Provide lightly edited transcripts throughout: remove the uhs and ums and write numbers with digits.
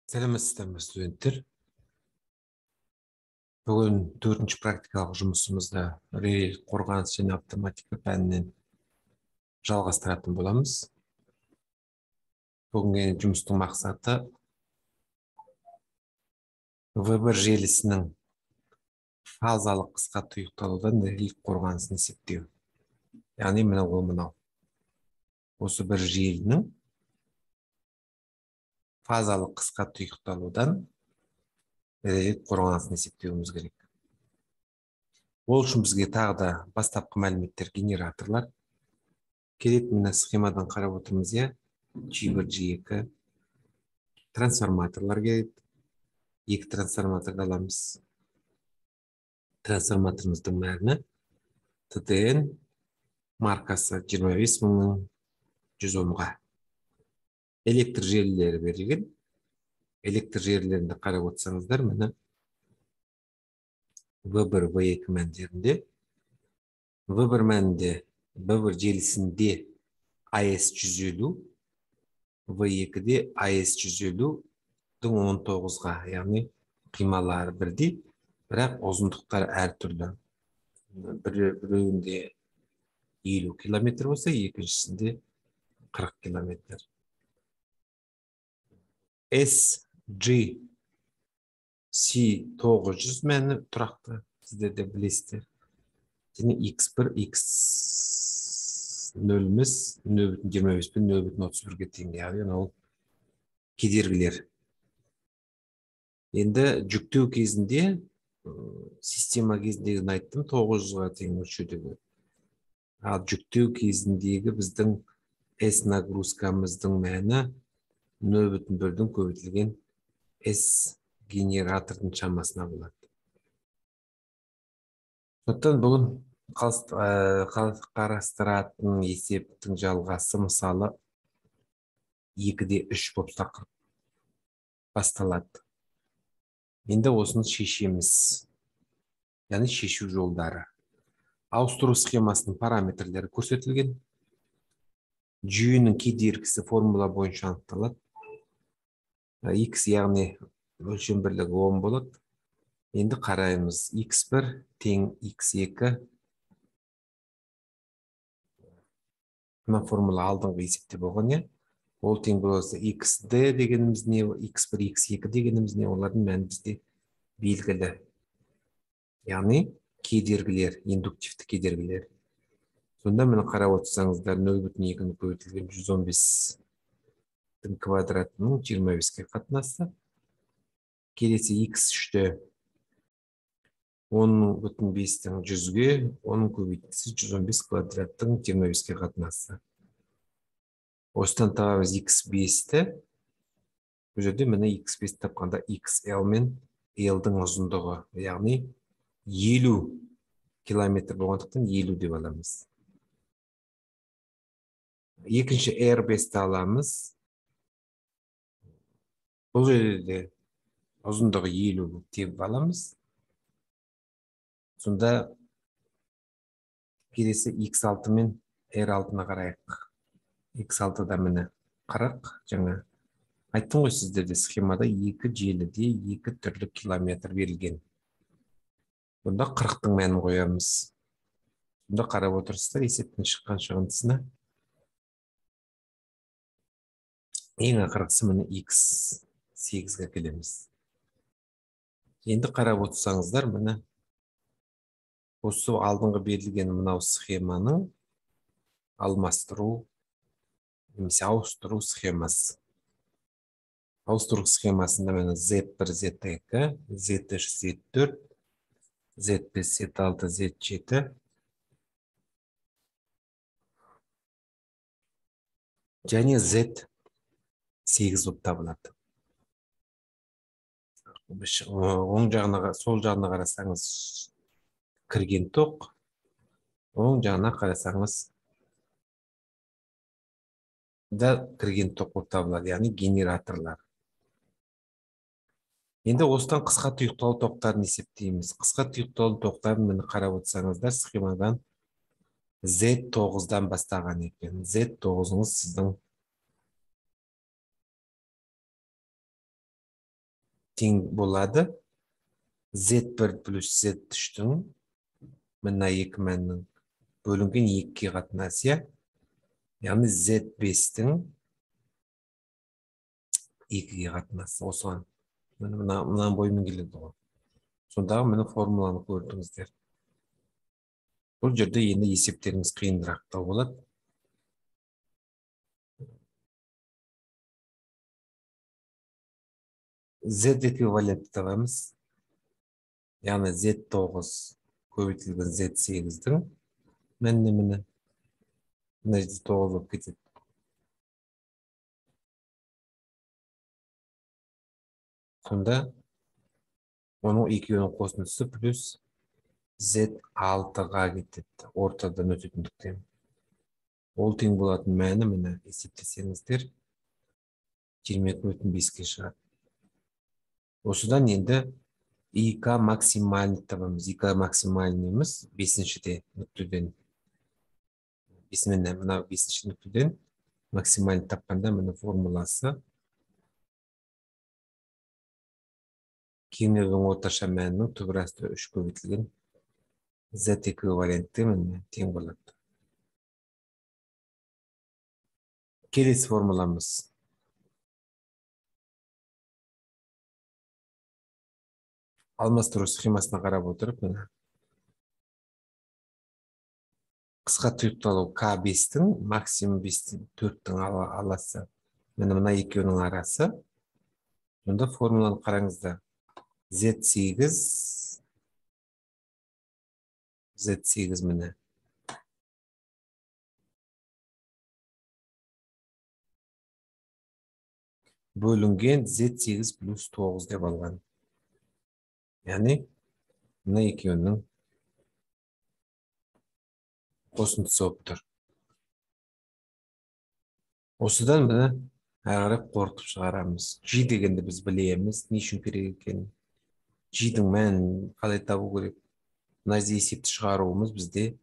Сәлеметсіздер ме студенттер? Бүгін 4-ші практикалық жұмысымызды реле қорғаныс және автоматика пәнінен жалғастыратын боламыз. Бүгінгі жұмыстың мақсаты V1 желісінің фазалық қысқа тұйықталудан реле қорғанысын есептеу. Яғни мынау. Осы бір желінің фазалық қысқа тұйықталудан реле қорғанысын есептеуіміз керек. Ол үшін бізге тағы да бастапқы мәліметтер генераторлар керек. Мына схемадан қарап отырмыз, G1, G2 трансформаторлар керек. 2 трансформаторды аламыз. Трансформаторымыздың мәні TTN маркасы 25100-ға. Электр желілері берілген. Электр желілерінде қарап отырсаңыздар, міне V1, V2 мәндерінде. V1 мәнінде V1 желісінде AS150, V2-де AS150-дің 19-ға, яғни қималары бірдей, бірақ ұзындықтары әртүрлі. Біреуінде 50 километр болса, екіншісінде 40 километр. SGC900 мәні тұрақты, сіздер де білесіздер. Және X1, X0-міз 0.25 пен 0.31-ге тең, яғни ол кедергілер. Енді жүктеу кезінде, система кезіндегі айттым, 900-ға тең өлшеудегі. Ал жүктеу кезіндегі біздің S нагрузкамыздың мәні 0.1-дің көбейтілген S генератордың шамасына болады. Сондықтан бүгін қарастыратын есептің жалғасы мысалы 2-де 3 болып тақырып басталады. Енді осыны шешеміз, яғни шешу жолдары. Ауыстыру схемасының параметрлері көрсетілген. Жүйенің кедергісі формула бойынша анықталады. X яғни өлшем бірлігі 10 болады. Енді қараймыз. X1 тең X2. Мына формула алдыңғы есепте болған, Ол тең болса XD дегеніміз не, X1, X2 дегеніміз не, олардың мәні бізде белгілі. Яғни кедергілер, индуктивті кедергілер. Сонда мені қарап отырсаңыздар, 0.2-ні көбейтілген 115-дің квадратының 25-ке қатынасы. Келесі X3-ті 10.5-дің 100-ге, оның көбейтілісі 115 квадраттың 25-ке қатынасы. Осыдан табамыз X5-ті. Бұл жерде мені X5 тапқанда XL мен L-дің ұзындығы, яғни 50 километр болғандықтан 50 деп аламыз. Екінші R5-ті аламыз. Бұл жерде ұзындығы 50 деп аламыз. Сонда келесі X6 мен R6-ына қарайық. X6-да мені 40, жаңа айттым ғой сіздерде схемада 2 желіде 2 түрлі километр берілген. Бұнда 40-тың мәнін қоямыз. Бұнда қарап отырсыздар, есептен шыққан шығындысына. Ең ақырғысы мені X8-ге келеміз. Енді қарап отырсаңыздар, мені осы алдыңғы берілген мынау схеманың алмастыру, немесе ауыстыру схемасы. Ауыстыру схемасында мені Z1, Z2, Z3, Z4, Z5, Z6, Z7 және Z8 болып табылады. Оң жағына, сол жағына қарасаңыз кірген тоқ, оң жағына қарасаңыз да кірген тоқ болып табылады, яғни генераторлар. Енді осыдан қысқа тұйықталу тоқтарын есептейміз. Қысқа тұйықталу тоқтарын мені қарап отырсаңыздар, схемадан Z9-дан бастаған екен. Z9-ыңыз сіздің тең болады z1 плюс z3-тің мына екі мәннің бөлінген 2-ге қатынасы, иә? Яғни z5-тің 2-ге қатынасы осыған. Мына бойымен келеді ғой. Сондағы мені формуланы көрдіңіздер. Бұл жерде енді есептеріңіз қиындырақтау болады. Z эквивалентті табамыз. Яғни Z9 көбейтілген Z8-дің мәніне міне. Мына жерде 9 болып кетеді. Сонда оның екеуінің қосындысы плюс Z6-ға кетеді. Ортадан өтетіндіктен. Ол тең болатын мәні міне есептесеңіздер 22,5-ке шығады. Осыдан енді ИК максимальный табамыз. ИК максимальныйымыз 5-шіде нүктеден. Мына 5-ші нүктеден максимальный тапқанда міне формуласы кеңдеудің орташа мәнінің түбірасты 3 көбейтілген Z эквивалентті міне тең болады. Келесі формуламыз. Алмастыру схемасына қарап отырып, міне. Қысқа тұйықталу К5-тің, максимум 4-тің аласы. Мына екеуінің арасы. Онда формуланы қараңыздар. Z8 міне. Бөлінген Z8 плюс 9 деп алған. Яғни, мына екеуінің қосындысы болып тұр. Осыдан міне ағарып қорытып шығарамыз. G дегенді біз білеміз, не үшін керек екен. G-дің мәнін қалай табу керек. Мына жерде есепті шығаруымыз бізде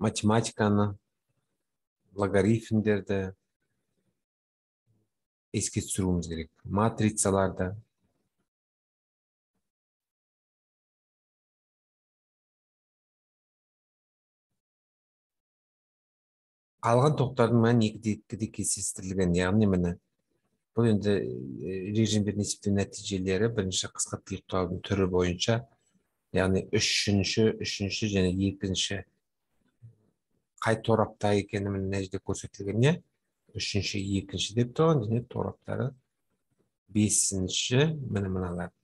математиканы, логарифмдерді еске түсіруіміз керек. Матрицаларды. Қалған тоқтардың мәні 2-де кездестірілген. Яғни міне бұл енді режимдердің есептеу нәтижелері бірінші қысқа тұйықтаудың түрі бойынша, яғни үшінші және екінші қай торапта екені мына жерде көрсетілген, не? Үшінші, екінші деп тұрған, және тораптары бесінші, мыналар.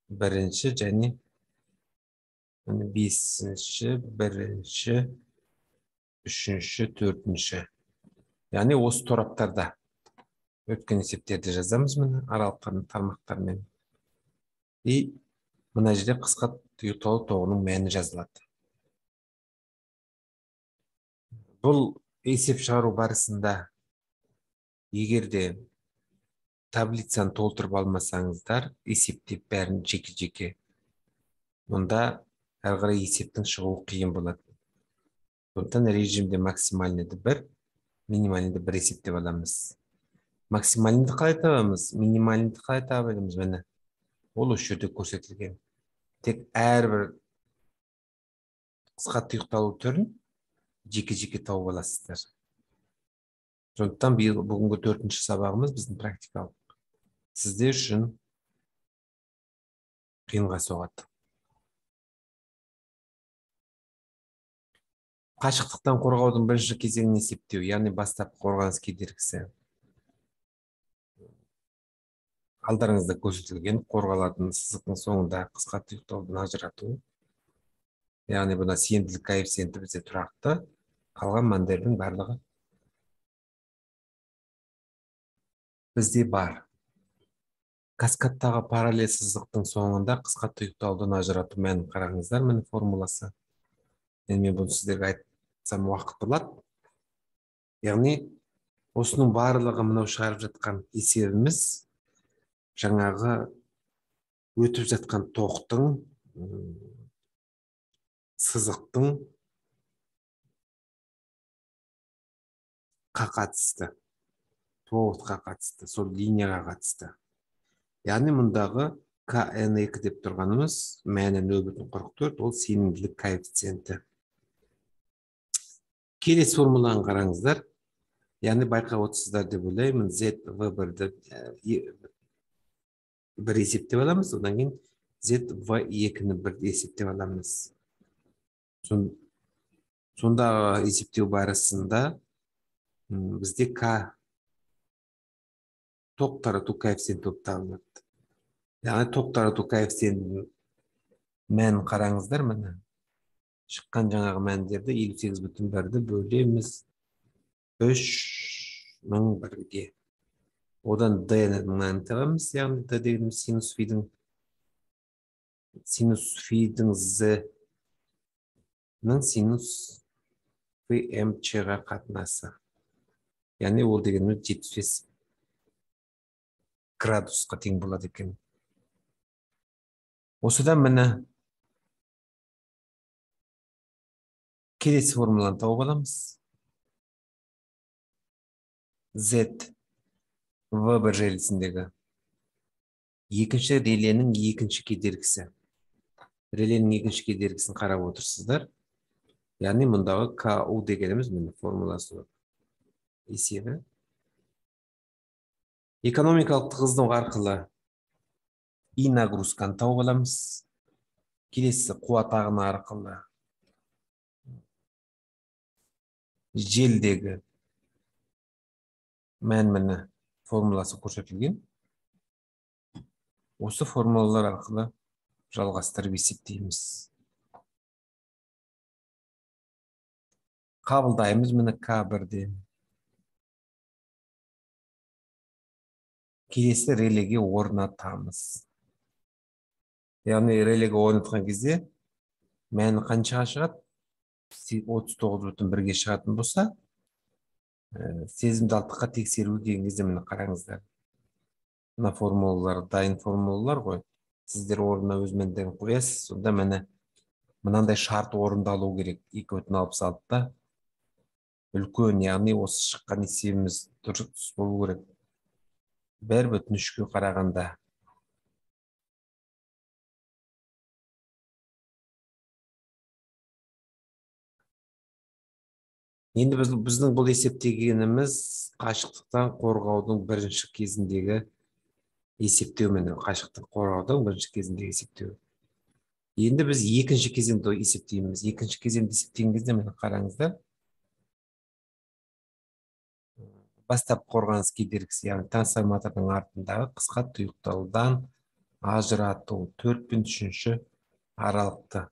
Бірінші және бесінші, бірінші, үшінші, төртінші. Яғни осы тораптарда өткен есептерді жазамыз міне аралықтардың тармақтармен. И мына жерде қысқа тұйықталу тоғының мәні жазылады. Бұл есеп шығару барысында егерде таблицаны толтырып алмасаңыздар, есептеп бәрін жеке-жеке, онда әрі қарай есептің шығуы қиын болады. Сондықтан режимде максимальныйды 1, минимальныйды 1 есептеп аламыз. Максимальныйды қалай табамыз, минимальныйды қалай табамыз, міне. Ол осы жерде көрсетілген. Тек әрбір қысқа тұйықталу түрін жеке-жеке тауып аласыздар. Сондықтан бүгінгі 4-ші сабағымыз біздің практикалық. Сіздер үшін қиынға соғады. Қашықтықтан қорғаудың бірінші кезеңін есептеу, яғни бастапқы қорғаныс кедергісі. Алдарыңызда көрсетілген қорғалатын сызықтың соңында қысқа тұйықталудан ажырату. Яғни бұна сенімділік коэффициенті бізде тұрақты, қалған мәндердің барлығы бізде бар. Каскадтағы параллель сызықтың соңында қысқа тұйықталудан ажырату мәнін қараңыздар, міне формуласы. Мен бұны сіздерге айтсам уақыт болады. Яғни осының барлығы мынау шығарып жатқан есебіміз жаңағы өтіп жатқан тоқтың, сызықтың қатысты. проводқа қатысты, сол линияға қатысты. Яғни мұндағы KN2 деп тұрғанымыз мәні 0,44, ол сенімділік коэффициенті. Келесі формуланы қараңыздар. Яғни байқап отырсыздар деп ойлаймын, ZV1-ді бір есептеп аламыз, одан кейін ZV2-ні бір есептеп аламыз. Сонда есептеу барысында бізде К тоқ тарату коэффициенті болып табылады. Яғни тоқ тарату коэффициентінің мәнін қараңыздар, міне. Шыққан жаңағы мәндерді 58,1-ді бөлеміз 3,001-ге. Одан D-ні мәнін табамыз, яғни D дегеніміз синус фидің Z-ның синус VMC-ға қатынасы. Яғни ол дегеніміз 75 градусқа тең болады екен. Осыдан міне келесі формуланы тауып аламыз. Z V1 желісіндегі екінші реленің екінші кедергісі. Реленің екінші кедергісін қарап отырсыздар. Яғни мұндағы KU дегеніміз міне формуласы есебі. Экономикалық тығыздық арқылы И нагрузканы тауып аламыз. Келесі қуат ағыны арқылы желдегі мән формуласы көрсетілген. Осы формулалар арқылы жалғастырып есептейміз. Қабылдаймыз міне К1-ден. Келесі релеге орнатамыз. Яғни релеге орнатқан кезде мәні қаншаға шығады? 39,1-ге шығатын болса, сезімдалдыққа тексеру деген кезде міне қараңыздар. Мына формулалар, дайын формулалар ғой. Сіздер орнына өз мәндерін қоясыз, сонда міне мынандай шарт орындалу керек. 2,66-да үлкен, яғни осы шыққан есебіміз дұрыс болу керек. 1,3-ге қарағанда. Енді біздің бұл есептегеніміз қашықтықтан қорғаудың бірінші кезіндегі есептеу міне, қашықтық қорғаудың бірінші кезіндегі есептеу. Енді біз екінші кезеңді есептейміз. Екінші кезеңді есептеген кезде міне қараңыздар. Бастап қорғаныс кедергісі, яғни трансформатордың артындағы қысқа тұйықталудан ажырату 4 пен 3-ші аралықты.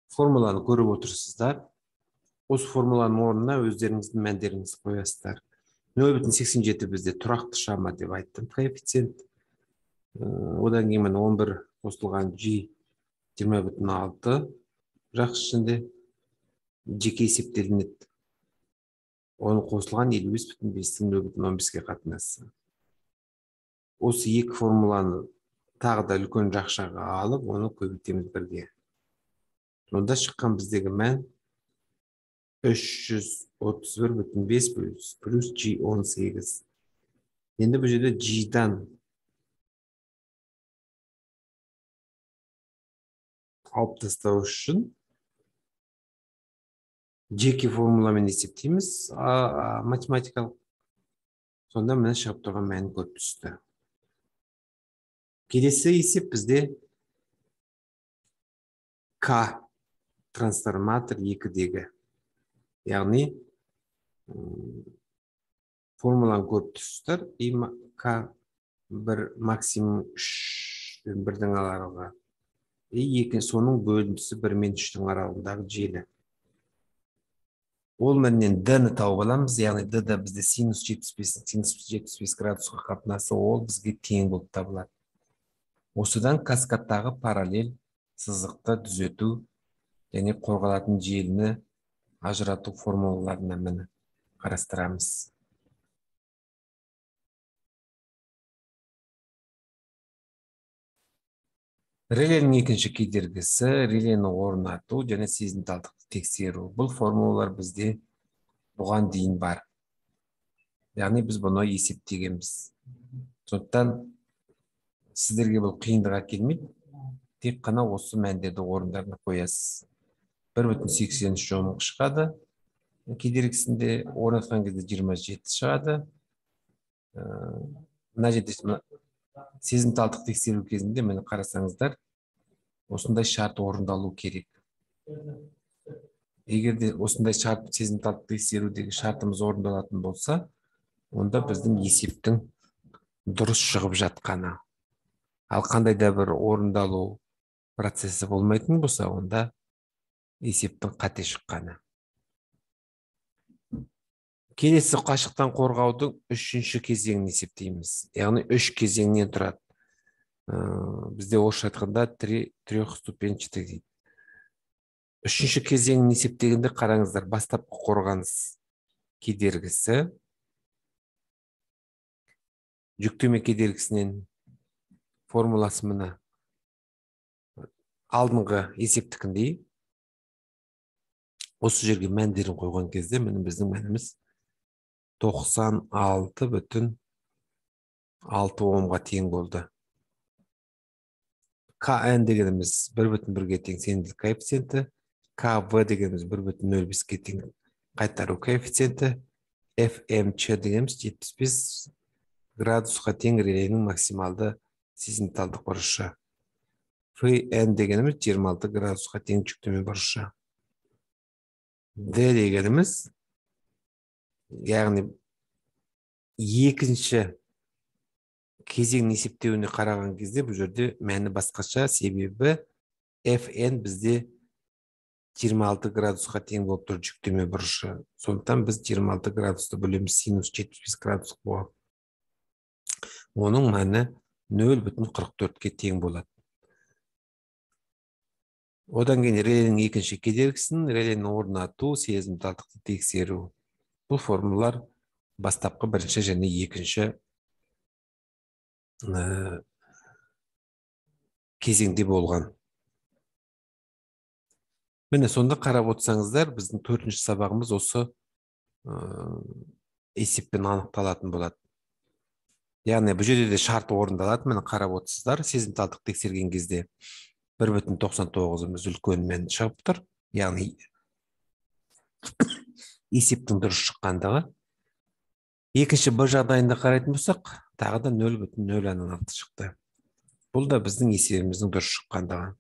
Формуланы көріп отырсыздар. Осы формуланың орнына өздеріңіздің мәндеріңізді қоясыздар. 0,87 бізде тұрақты шама деп айттым, коэффициент. Одан кейін 11 қосылған G 20,6 жақсы ішінде жеке есептелінеді. Оны қосылған 55,5-тің 0,15-ге қатынасы. Осы екі формуланы тағы да үлкен жақшаға алып, оны көбейтеміз бірге. Онда шыққан біздегі мән 331,5 плюс G18. Енді бұл жерде G-дан алып тастау үшін жеке формуламен есептейміз, математикалық. Сонда міне шығып тұрған мән көп түсті. Келесі есеп бізде К трансформатор 2-дегі. Яғни формуланы көріп тұрсыздар. К1 максимум 3-1-дің аралығы. Соның бөлінісі 1 мен 3-дің аралығындағы желі. Ол мәннен D-ні тауып аламыз. Яғни D-да бізде синус 75 градусқа қатынасы, ол бізге тең болып табылады. Осыдан каскадтағы параллель сызықты түзету және қорғалатын желіні ажырату формулаларына міне қарастырамыз. Реленің екінші кедергісі, релені орнату және сезімталдықты тексеру. Бұл формулалар бізде бұған дейін бар. Яғни біз бұны есептегенбіз. Сондықтан сіздерге бұл қиындық әкелмейді. Тек қана осы мәндерді орындарына қоясыз. 1,83 жомық шығады. Кедергісінде орнатқан кезде 27 шығады. Мына жерде сезімталдық тексеру кезінде мені қарасаңыздар, осындай шарт орындалу керек. Егер де осындай шарт сезімталдық тексерудегі шартымыз орындалатын болса, онда біздің есептің дұрыс шығып жатқаны. Ал қандай да бір орындалу процесі болмайтын болса, онда есептің қате шыққаны. Келесі қашықтан қорғаудың үшінші кезеңін есептейміз. Яғни 3 кезеңнен тұрады. Бізде орысша айтқанда трехступенчатый дейді. Үшінші кезеңін есептегенде қараңыздар, бастапқы қорғаныс кедергісі жүктеме кедергісінен формуласы мына алдыңғы есептікіндей. Осы жерге мәндерін қойған кезде біздің мәніміз 96,6 омға тең болды. КН дегеніміз 1,1-ге тең сенімділік коэффициенті, КВ дегеніміз 1,05-ге тең қайтару коэффициенті, ФМЧ дегеніміз 75 градусқа тең релейнің максималды сезімталдық бұрышы. ФН дегеніміз 26 градусқа тең жүктеме бұрышы. Д дегеніміз, яғни екінші кезең есептеуіне қараған кезде бұл жерде мәні басқаша, себебі FN бізде 26 градусқа тең болып тұр жүктеме бұрышы. Сондықтан біз 26 градусты бөлеміз синус 75 градус болады. Оның мәні 0,44-ге тең болады. Одан кейін релейнің екінші кедергісін, релейні орнату, сезімталдықты тексеру. Бұл формулалар бастапқы бірінші және екінші кезеңде болған. Міне сонда қарап отырсаңыздар, біздің 4-ші сабағымыз осы есеппен анықталатын болады. Яғни бұл жерде де шарт орындалады. Міне қарап отырсыздар, сезімталдық тексерген кезде 1,99-ымыз үлкен мән шығып тұр. Яғни есептің дұрыс шыққандығы. Екінші Б жағдайында қарайтын болсақ, тағы да 0,06 шықты. Бұл да біздің есебіміздің дұрыс шыққандығы.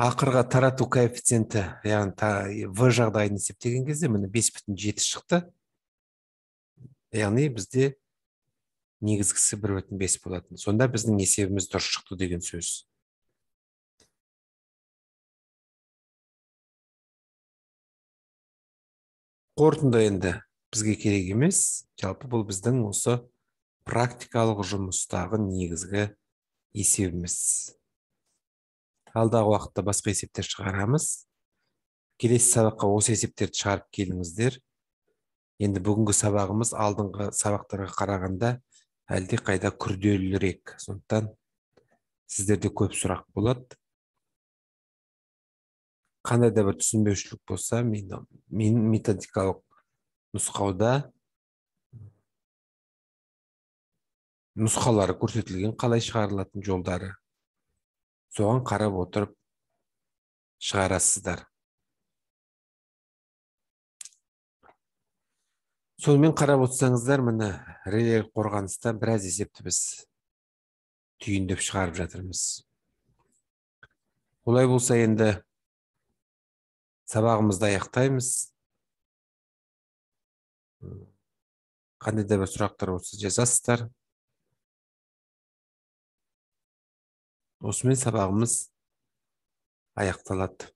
Ақырға тарату коэффициенті, яғни В жағдайын есептеген кезде міне 5,7 шықты. Яғни бізде негізгісі 1,5 болатын. Сонда біздің есебіміз дұрыс шықты деген сөз. Қорытынды енді бізге керек емес, жалпы бұл біздің осы практикалық жұмыстағы негізгі есебіміз. Алдағы уақытта басқа есептер шығарамыз. Келесі сабаққа осы есептерді шығарып келіңіздер. Енді бүгінгі сабағымыз алдыңғы сабақтарға қарағанда әлде қайда күрделірек. Сондықтан сіздерде көп сұрақ болады. Қандай да бір түсінбеушілік болса, мен методикалық нұсқауда нұсқалары көрсетілген, қалай шығарылатын жолдары. Соған қарап отырып шығарасыздар. Сонымен қарап отырсаңыздар, міне релейлік қорғаныста біраз есепті біз түйіндеп шығарып жатырмыз. Олай болса енді сабағымызды аяқтаймыз. Қандай да бір сұрақтар болса жазасыздар. Осымен сабағымыз аяқталады.